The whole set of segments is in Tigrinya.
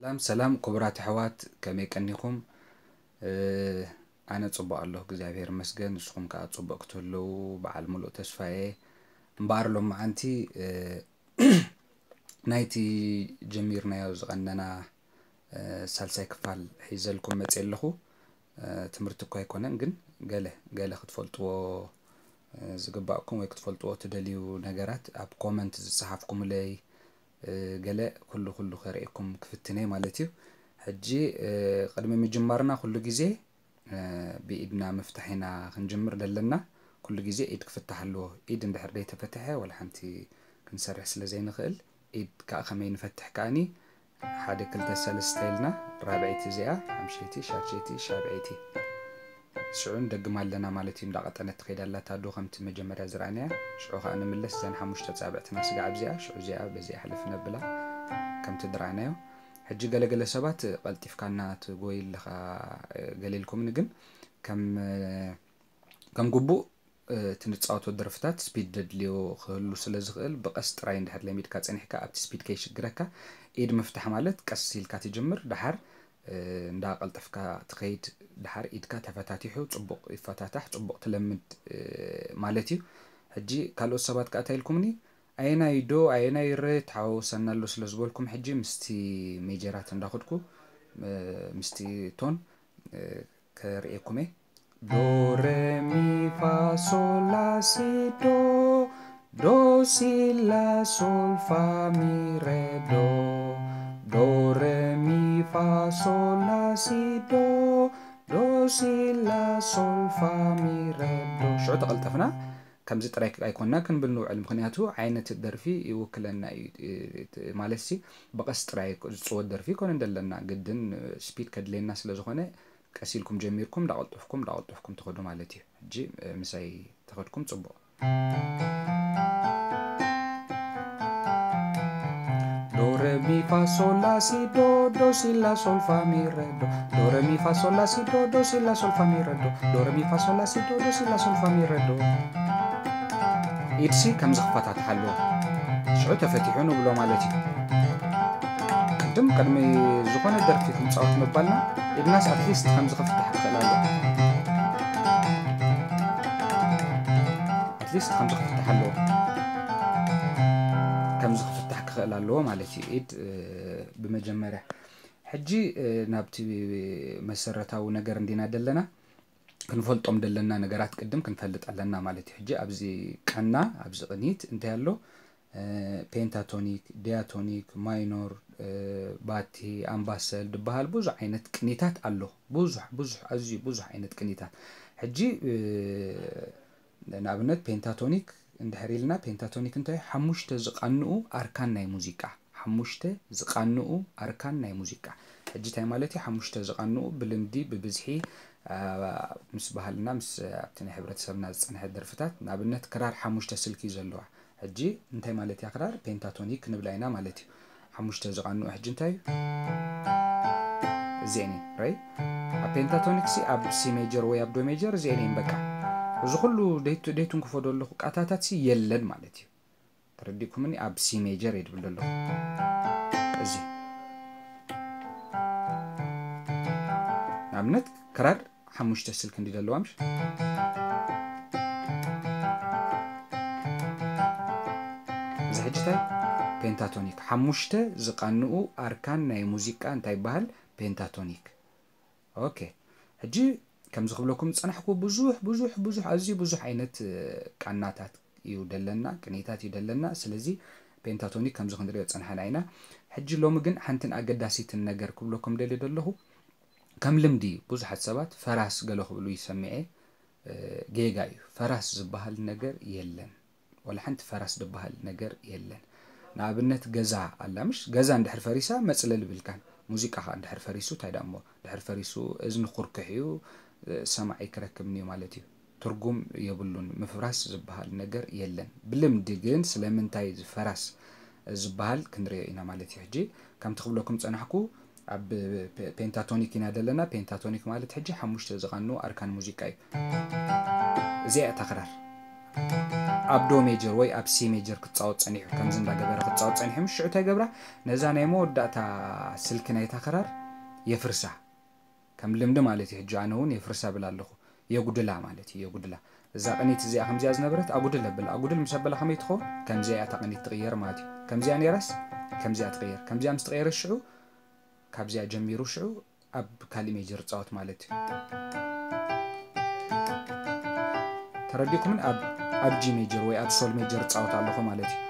ሰላም ሰላም ክቡራት ኣሕዋት፣ ከመይ ቀኒኹም? ኣነ ጽቡቕ ኣለኹ እግዚኣብሔር ይመስገን። ንስኹም ከኣ ጽቡቕ ክትህልዉ በዓል ምሉእ ተስፋ እየ። እምበኣር ሎምዓንቲ ናይቲ ጀሚርናዮ ዝቐነና ሳልሳይ ክፋል ሒዘልኩም መጽየ ኣለኹ። ትምህርቲ እኳ ኣይኮነን፣ ግን ገለ ገለ ክትፈልጥዎ ዝግባእኩም ወይ ክትፈልጥዎ ትደልዩ ነገራት ኣብ ኮመንት ዝጸሓፍኩምለይ፣ ገለ ኩሉ ኩሉ ከርእየኩም ክፍትነ ማለት እዩ። ሕጂ ቅድሚ ምጅማርና ኩሉ ግዜ ብኢድና ምፍታሕ ኢና ክንጅምር ዘለና። ኩሉ ግዜ ኢድ ክፍታሕ ኣለዎ። ኢድ እንድሕር ደይተፈትሐ ወላ ሓንቲ ክንሰርሕ ስለ ዘይንኽእል፣ ኢድ ከዓ ከመይ ንፈትሕ ከኣኒ ሓደ ክልተ ሰለስተ ኢልና፣ ራብዐይቲ እዚኣ፣ ሓምሸይቲ፣ ሻድሸይቲ፣ ሻብዐይቲ። ሽዑ ንደግማ ኣለና ማለት እዩ። እንዳቐጠነት ትኸይድ ኣላ ኣዶ ከምቲ መጀመርያ ዝረኣናያ። ሽዑ ከዓ ንምለስ እዘን ሓሙሽተ ጻብዕትና ስጋዕ ኣብዚኣ፣ ሽዑ እዚኣ በዚኣ ሕልፍ ነብላ ከምቲ ዝረኣናዮ። ሕጂ ገለገለ ሰባት ቀልጢፍካ እናትጎይ ኣለኻ ገለ ኢልኩምኒ፣ ግን ከም ከም ግቡእ እቲ ንጻወቶ ደርፍታት ስፒድ ደድልዮ ክህሉ ስለ ዝኽእል ብቐስ ጥራይ እንድሕር ለሚድካ ጸኒሕካ ኣብቲ ስፒድ ከይሽግረካ ኢድ ምፍታሕ ማለት ቀስ ኢልካ ትጅምር፣ ደሓር እንዳቐልጠፍካ ትኸይድ፣ ደሓር ኢድካ ተፈታቲሑ ጽቡቕ ይፈታታሕ፣ ጽቡቕ ትለምድ ማለት እዩ። ሕጂ ካልኦት ሰባት ከኣ እንታይ ኢልኩምኒ፣ ኣየናይ ዶ ኣየናይ ረ ተሓዋወሰና ኣሎ ስለ ዝበልኩም፣ ሕጂ ምስቲ ሜጀራት እንዳኸድኩ ምስቲ ቶን ከርእየኩም እየ። ዶ ረ ሚ ፋ ሶል ላ ሲ ዶ፣ ዶ ሲ ላ ሶል ፋ ሚ ረ ዶ፣ ዶ ረ ሚ ፋ ሶል ላ ሲ ዶ፣ ዶ ሲ ላ ሶል ፋ ሚ ረ ዶ። ሽዑ ተቐልጠፍና ከምዚ ጥራይ ኣይኮንና ክንብል ንውዕል፣ ምኽንያቱ ዓይነት ደርፊ ይውክለና እዩ። ማለት ሲ ብቐስ ጥራይ ዝፅወት ደርፊ ይኮነ እንደለና፣ ግድን ስፒድ ከድልየና ስለ ዝኾነ ቀስ ኢልኩም ጀሚርኩም እንዳቐልጠፍኩም እንዳቐልጠፍኩም ትኸዱ ማለት እዩ። ሕጂ ምሳይ ተኸድኩም ጽቡቕ። ዶ ረ ሚ ፋ ሶል ላ ሲ ዶ፣ ዶ ሲ ላ ሶል ፋ ሚ ረ ዶ፣ ዶ ረ ሚ ፋ ሶል ላ ሲ ዶ፣ ዶ ሲ ላ ሶል ፋ ሚ ረ ዶ፣ ዶ ረ ሚ ፋ ሶል ላ ሲ ዶ፣ ዶ ሲ ላ ሶል ፋ ሚ ረ ዶ። ኢድሲ ከምዚ ክፈታተሓ ኣለዎ። ሽዑ ተፈቲሑ ንብሎ ማለት እዩ። ቅድም ቅድሚ ዝኾነ ደርፊ ክንጻወት ምባልና ኢድናስ ኣትሊስት ከምዚ ክፍታሕ ክኽእል ኣለዎ። ኣትሊስት ከምዚ ክፍታሕ ኣለዎ። ከምዚ ክፍታሕ ክኽእል ኣለዎ ማለት እዩ። ኢድ ብመጀመርያ ሕጂ ናብቲ መሰረታዊ ነገር እንዲና ደለና። ክንፈልጦም ደለና ነገራት ቅድም ክንፈልጥ ኣለና ማለት እዩ። ሕጂ ኣብዚ ቃና ኣብዚ ቅኒት እንታይ ኣሎ? ፔንታቶኒክ፣ ዲያቶኒክ፣ ማይኖር፣ ባቲ፣ ኣምባሰል ዝበሃል ብዙሕ ዓይነት ቅኒታት ኣሎ። ብዙሕ ብዙሕ ኣዝዩ ብዙሕ ዓይነት ቅኒታት። ሕጂ ንኣብነት ፔንታቶኒክ እንድሕር ኢልና፣ ፔንታቶኒክ እንታይ ሓሙሽተ ዝቃንኡ ኣርካን ናይ ሙዚቃ፣ ሓሙሽተ ዝቃንኡ ኣርካን ናይ ሙዚቃ። ሕጂ እንታይ ማለት እዩ? ሓሙሽተ ዝቃንኡ ብልምዲ ብብዝሒ ምስ ባህልና ምስ ኣብቲ ናይ ሕብረተሰብና ዝፀንሐ ደርፍታት፣ ንኣብነት ክራር ሓሙሽተ ስልኪ እዩ ዘለዋ። ሕጂ እንታይ ማለት እያ ክራር? ፔንታቶኒክ ክንብላ ኢና ማለት እዩ። ሓሙሽተ ዝቃንኡ ሕጂ እንታይ እዩ? እዚአን እየን ራይ ኣብ ፔንታቶኒክ ሲ ኣብ ሲ ሜጀር ወይ ኣብ ዶ ሜጀር እዚአን እየን በቃ። እዚ ኩሉ ደይቱ ደይቱንክፎ ዘለኹ ቃታታት ሲ የለን ማለት እዩ። ተረዲእኩምኒ? ኣብ ሲ ሜጀር እየ ድብል ዘለኹ። እዚ ንኣብነት ክራር ሓሙሽተ ስልክ እንዲ ዘለዋ ምሽ እዚ ሕጂ እንታይ ፔንታቶኒክ ሓሙሽተ ዝቃንኡ ኣርካን ናይ ሙዚቃ እንታይ ይበሃል? ፔንታቶኒክ። ኦኬ ሕጂ ከምዚ ክብለኩም ዝጸናሕኩ ብዙሕ ብዙሕ ብዙሕ ኣዝዩ ብዙሕ ዓይነት ቃናታት እዩ ደለና፣ ቅኒታት እዩ ደለና። ስለዚ ፔንታቶኒክ ከምዚ ክንሪኦ ዝጸናሕና ኢና። ሕጂ ሎሚ ግን ሓንትን ኣገዳሲትን ነገር ክብለኩም ደልየ ደለኹ፣ ከም ልምዲ ብዙሓት ሰባት ፈራስ ገለ ክብሉ ይሰምዐ። ጌጋ እዩ። ፈራስ ዝበሃል ነገር የለን። ወላ ሓንቲ ፈራስ ዝበሃል ነገር የለን። ንኣብነት ገዛ ኣላ ምሽ፣ ገዛ እንድሕር ፈሪሳ መፅለል ብልካን። ሙዚቃ ከዓ እንድሕር ፈሪሱ እንታይ ደኣ እሞ፣ እንድሕር ፈሪሱ እዝኒ ኩርክሕ እዩ፣ ሰማዒ ክረክብኒ እዩ ማለት እዩ። ትርጉም የብሉን። ምፍራስ ዝበሃል ነገር የለን። ብልምዲ ግን ስለምንታይ ፈራስ ዝበሃል ክንሪኦ ኢና ማለት እዩ። ሕጂ ከምቲ ክብለኩም ፀናሕኩ ኣብ ፔንታቶኒክ ኢና ዘለና። ፔንታቶኒክ ማለት ሕጂ ሓሙሽተ ዝቃንኡ ኣርካን ሙዚቃ እዩ። እዚኣ እታ ክራር ኣብ ዶ ሜጀር ወይ ኣብ ሲ ሜጀር ክጻወት ጸኒሑ፣ ከምዚ እንዳገበረ ክጻወት ጸኒሑ፣ ምስ ሽዑ እንታይ ገብራ? ነዛ ናይ መወዳእታ ስልኪ ናይታ ክራር የፍርሳ። ከም ልምዲ ማለት እዩ። ሕጂ ኣነ እውን የፍርሳ ብል ኣለኹ። የጉድላ ማለት እዩ፣ የጉድላ። እዛ ቅኒት እዚኣ ከምዚኣ ዝነበረት ኣጉድል ኣብል። ኣጉድል ምስ ኣበላ ከመይ ትኸውን? ከምዚኣ እያ እታ ቅኒት ትቕየር ማለት እዩ። ከምዚኣ ነይራስ፣ ከምዚኣ ትቕየር። ከምዚኣ ምስ ተቐየረ ሽዑ፣ ካብዚኣ ጀሚሩ ሽዑ ኣብ ካሊእ ሜጀር ጻወት ማለት እዩ። ተረዲእኩምን? ኣብ፣ ኣብ ጂ ሜጀር ወይ ኣብ ሶል ሜጀር ጻወት ኣለኹ ማለት እዩ።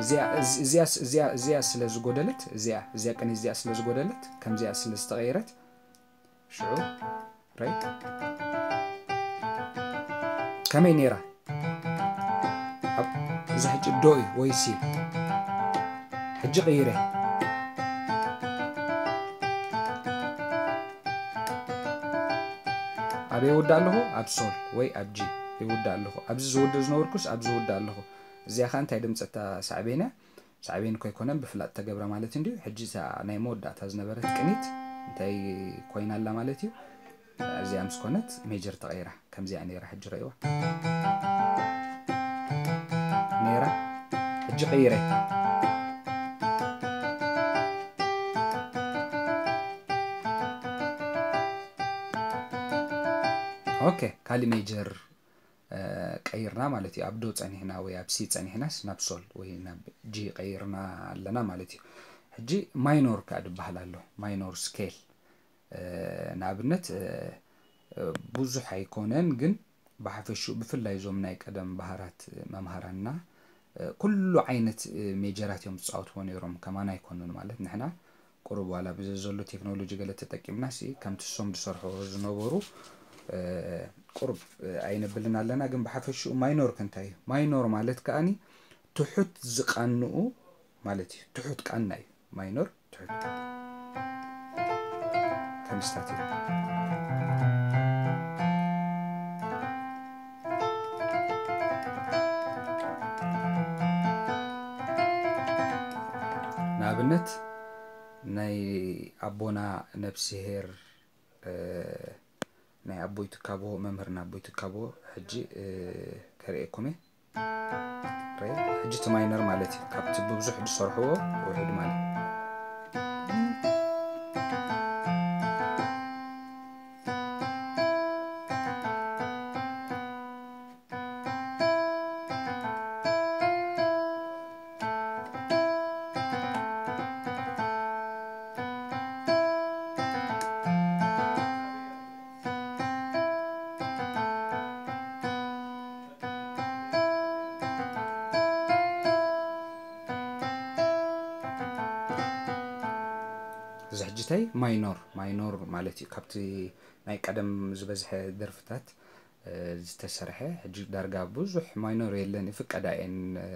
እዚኣ፣ እዚ-፣ እዚኣ፣ እዚኣ፣ እዚኣ ስለ ዝጎደለት፣ እዚኣ፣ እዚኣ ቅኒት እዚኣ ስለ ዝጎደለት፣ ከምዚኣ ስለ ዝተቐየረት፣ ሽዑ ራይት ከመይ ነይራ? ኣብ-፣ እዚ ሕጂ ዶ እዩ ወይ ሲ? ሕጂ ቅይረ። ኣበይ ይውዳእ ኣለኹ? ኣብ ሶል ወይ ኣብ ጂ ይውዳእ ኣለኹ። ኣብዚ ዝውድእ ዝነበርኩስ ኣብዚ ዝውዳእ ኣለኹ። እዚኣ ኸኣ እንታይ ድምጸት እታ ሳዕቤን እያ? ሳዕቤን እኮ ኣይኮነን፣ ብፍላጥ ተገብረ ማለት እንድዩ። ሕጂ እታ ናይ መወዳእታ ዝነበረት ቅኒት እንታይ ኮይና ኣላ ማለት እዩ? እዚኣ ምስ ኮነት ሜጀር ተቐይራ፣ ከምዚኣ ነይራ። ሕጂ ረእይዋ ነይራ፣ ሕጂ ቀይረ። ኦኬ፣ ካሊ ሜጀር፣ እ፣ ቀይርና ማለት እዩ። ኣብ ዶ ጸኒሕና ወይ ኣብ ሲ ጸኒሕናስ ናብ ሶል ወይ ናብ ጂ ቀይርና ኣለና ማለት እዩ። ሕጂ ማይኖር ከኣ ዝበሃል ኣሎ፣ ማይኖር ስኬል። እ፣ ንኣብነት፣ እ፣ እ፣ ብዙሕ ኣይኮነን፣ ግን ብሓፈሽኡ ብፍላይ እዞም ናይ ቀደም ባህራት መምሃራንና፣ እ፣ ኩሉ ዓይነት፣ እ፣ ሜጀራት እዮም ዝጻወትዎ ነይሮም፣ ከማና ኣይኮኑን ማለት ንሕና ቁሩብ ዋላ ብዚ ዘሎ ቴክኖሎጂ ገለ ተጠቂምና ሲ ከምቲ እሶም ዝሰርሕዎ ዝነበሩ፣ እ፣ ቁሩብ፣ እ፣ ኣይነብልን ኣለና። ግን ብሓፈሽኡ ማይኖር ከ እንታይ እዩ? ማይኖር ማለት ከኣኒ ትሑት ዝቃንኡ ማለት እዩ። ትሑት ቃና እዩ ማይኖር፣ ትሑት ከምስታት እዩ። ንኣብነት ናይ ኣቦና ነብስሄር፣ እ፣ ናይ ኣቦይ ትካቦ፣ መምህርና ኣቦይ ትካቦ ሕጂ፣ እ፣ ከርእየኩም እየ። ሬ፣ ሕጂ እቲ ማይነር ማለት እዩ። ካብቲ ብብዙሕ ዝሰርሕዎ ውሑድ ማለት። እዚ ሕጂ እንታይ ማይኖር፣ ማይኖር ማለት እዩ። ካብቲ ናይ ቀደም ዝበዝሐ ደርፍታት፣ እ፣ ዝተሰርሐ፣ ሕጂ ዳርጋ ብዙሕ ማይኖር የለን፣ ይፍቀዳ እየን፣ እ፣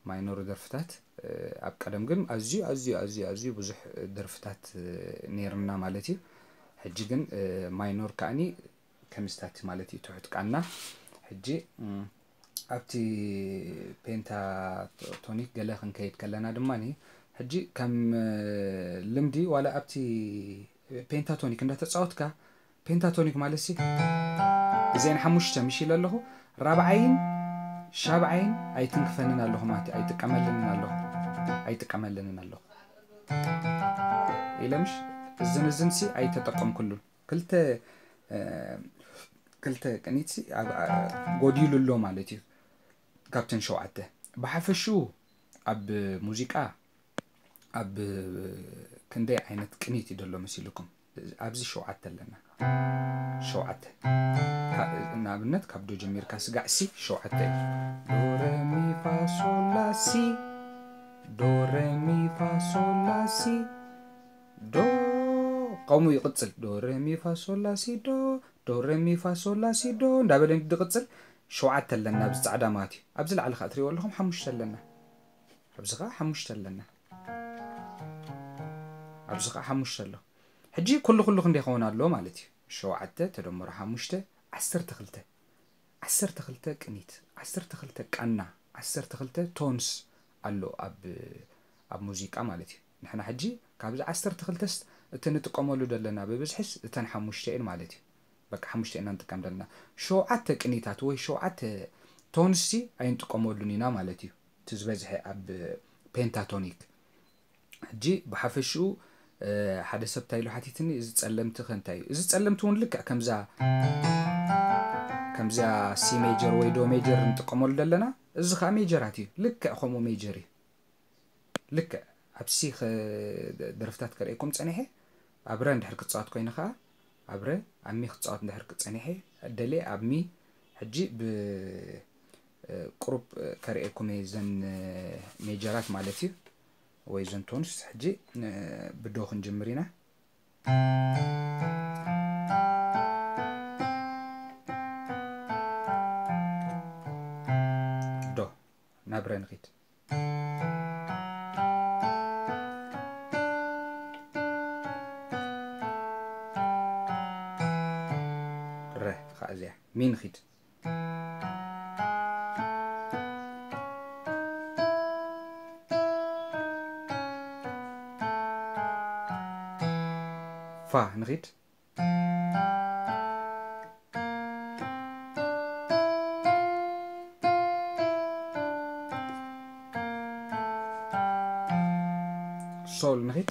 ማይኖር ደርፍታት። እ፣ ኣብ ቀደም ግን ኣዝዩ፣ ኣዝዩ፣ ኣዝዩ፣ ኣዝዩ ብዙሕ ደርፍታት፣ እ፣ ነይርና ማለት እዩ። ሕጂ ግን፣ እ፣ ማይኖር ከኣኒ ከምስታት ማለት እዩ፣ ትሑት ቃና። ሕጂ፣ እ፣ ኣብቲ ፔንታቶኒክ ገለ ክንከይድ ከለና ድማ፣ ሕጂ ከም፣ እ፣ ልምዲ ዋላ ኣብቲ ፔንታቶኒክ እንዳተጻወትካ፣ ፔንታቶኒክ ማለት ሲ፣ እዚአን ሓሙሽተ ምሽ ኢለ ኣለኹ፣ ራብዓይን ሻብዓይን ኣይትንክፈንን ኣለኹ ማለት እዩ፣ ኣይጥቀመልንን ኣለኹ፣ ኣይጥቀመልንን ኣለኹ ኢለ ምሽ፣ እዝን እዝን ሲ ኣይተጠቀምኩሉን። ክልተ፣ እ፣ ክልተ ቅኒት ሲ ኣብ፣ ኣ፣ ጎዲሉ ኣሎ ማለት እዩ ካብተን ሸውዓተ። ብሓፈሽኡ ኣብ ሙዚቃ ኣብ ክንደይ ዓይነት ቅኒት እዩ ዘሎ መሲልኩም? ኣብዚ ሸውዓተ ኣለና። ሸውዓተ። ካ-፣ ንኣብነት ካብ ዶ ጀሚርካ ስጋዕ ሲ ሸውዓተ እዩ። ዶ፣ ረ፣ ሚ፣ ፋ፣ ሶል፣ ላ፣ ሲ። ዶ፣ ረ፣ ሚ፣ ፋ፣ ሶል፣ ላ፣ ሲ። ዶ፣ ከምኡ ይቕጽል። ዶ፣ ረ፣ ሚ፣ ፋ፣ ሶል፣ ላ፣ ሲ፣ ዶ። ዶ፣ ረ፣ ሚ፣ ፋ፣ ሶል፣ ላ፣ ሲ፣ ዶ። እንዳበለ ድቕጽል ሸውዓተ ኣለና ኣብዚ ጻዕዳ ማለት እዩ። ኣብዚ ላዕሊ ከኣ ትሪእዎ ኣለኹም ሓሙሽተ ኣለና። ኣብዚ ኸዓ ሓሙሽተ ኣለና። ኣብዚ ኸዓ ሓሙሽተ ኣሎ። ሕጂ ኩሉ ኩሉ ክንደይ ይኸውን ኣሎ ማለት እዩ? ሸውዓተ ተደምሮ ሓሙሽተ፣ ዓሰርተ ክልተ። ዓሰርተ ክልተ ቅኒት፣ ዓሰርተ ክልተ ቃና፣ ዓሰርተ ክልተ ቶንስ ኣሎ ኣብ፣ ኣብ ሙዚቃ ማለት እዩ። ንሕና ሕጂ ካብዚ ዓሰርተ ክልተስ እቲ ንጥቀመሉ ዘለና ብብዝሕስ እተን ሓሙሽተ እየን ማለት እዩ። በቃ ሓሙሽተ ኢና ንጥቀም ዘለና። ሸውዓተ ቅኒታት ወይ ሸውዓተ ቶንስ ሲ ኣይንጥቀመሉን ኢና ማለት እዩ። እቲ ዝበዝሐ ኣብ ፔንታቶኒክ። ሕጂ ብሓፈሽኡ ሓደ ሰብ እንታይ ኢሉ ሓቲትኒ፣ እዚ ጸለምቲ ከ እንታይ እዩ? እዚ ጸለምቲ እውን ልክዕ ከምዛ ከምዚኣ ሲ ሜጀር ወይ ዶ ሜጀር ንጥቀመሉ ዘለና፣ እዚ ከዓ ሜጀራት እዩ። ልክዕ ከምኡ ሜጀር እዩ። ልክዕ ኣብ ሲ ደርፍታት ከርእየኩም ጸኒሐ፣ ኣብ ረ እንድሕር ክጻወት ኮይነ ከዓ ኣብ ረ፣ ኣብ ሚ ክጻወት እንድሕር ጸኒሐ፣ ደልየ ኣብ ሚ። ሕጂ ብ ቁሩብ ከርእየኩም እየ ዘን ሜጀራት ማለት እዩ፣ ወይ ዘን ቶንስ። ሕጂ ብዶ ክንጅምር ኢና። ዶ ናብ ረ ንኺድ። ረ ኸዓ እዚኣ ሚ ንኺድ። ፋ ንኺድ። ሶል ንኺድ።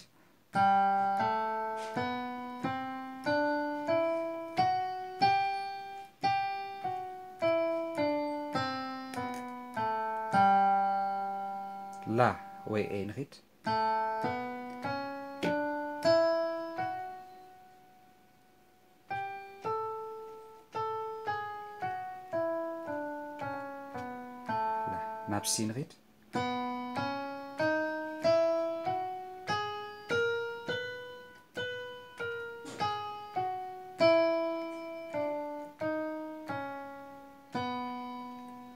ላ ወይ ኤ ንኺድ። ናብ ሲ ንኺድ።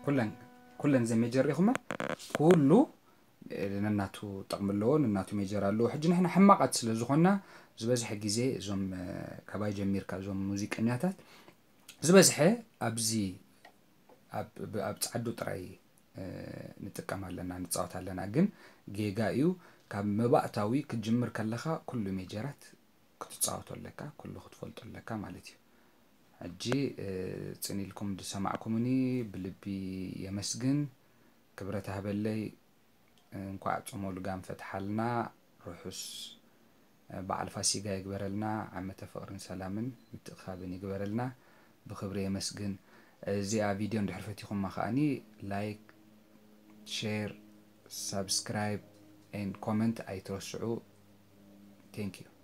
ኩለን ኩለን ዘ ሜጀር ሪኹማ ኩሉ ነናቱ ጥቕሚ ኣለዎ፣ ነናቱ ሜጀር ኣለዎ። ሕጂ ንሕና ሕማቓት ስለ ዝኾንና ዝበዝሐ ግዜ እዞም ካባይ ጀሚርካ እዞም ሙዚቀኛታት ዝበዝሐ ኣብዚ ኣብ ጻዕዱ ጥራይ ንጥቀም ኣለና፣ ንጻወት ኣለና። ግን ጌጋ እዩ። ካብ መባእታዊ ክትጅምር ከለኻ ኩሉ ሜጀራት ክትጻወቶ ኣለካ፣ ኩሉ ክትፈልጦ ኣለካ ማለት እዩ። ሕጂ ጽን ኢልኩም ዝሰማዕኩምኒ ብልቢ የመስግን። ክብረት ሃበለይ። እንኳዕ ጾመ ልጋም ፈትሓልና። ርሑስ በዓል ፋሲጋ ይግበረልና። ዓመተ ፍቕርን ሰላምን ምትእኻብን ይግበረልና። ብኽብሪ የመስግን። እዚኣ ቪድዮ እንድሕር ፈቲኹማ ከኣኒ ላይክ፣ ሼር፣ ሳብስክራይብ ኤንድ ኮመንት ኣይትረስዑ። Thank you።